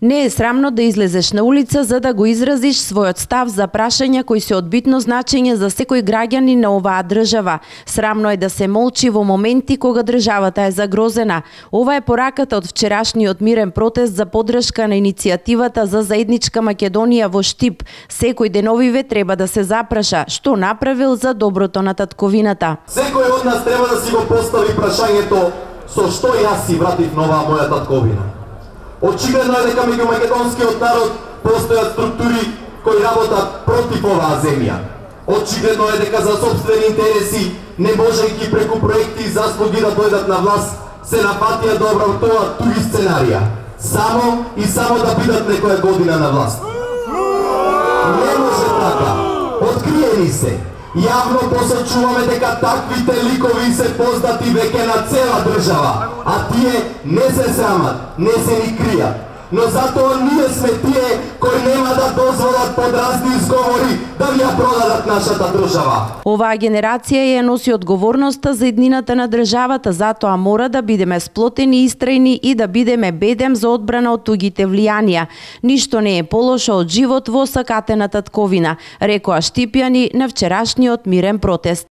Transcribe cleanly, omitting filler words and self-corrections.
Не е срамно да излезеш на улица за да го изразиш својот став за прашања кои се од битно значење за секој граѓанин на оваа држава. Срамно е да се молчи во моменти кога државата е загрозена. Ова е пораката од вчерашниот мирен протест за поддршка на иницијативата за заедничка Македонија во Штип. Секој деновиве треба да се запраша што направил за доброто на татковината. Секој од нас треба да си го постави прашањето со што јас си вратив на оваа моја татковина. Очигледно е дека меѓу македонскиот народ постојат структури кои работат против оваа земја. Очигледно е дека за сопствени интереси, не можејќи преку проекти и заслуги да дојдат на власт, се напатија да обработуваат туги сценарија. Само и само да бидат некоја година на власт. Не може така. Откриени се. Јавно посочуваме дека таквите ликови се познати веќе на цела држава, а тие не се срамат, не се ни кријат. Но затоа ние сме тие кои нема да дозволат под разни изговори да ја продадат нашата држава. Оваа генерација ја носи одговорноста за еднината на државата, затоа мора да бидеме сплотени и истрајни и да бидеме бедем за одбрана од тугите влијанија. Ништо не е полошо од живот во сакатена татковина, рекоа штипјани на вчерашниот мирен протест.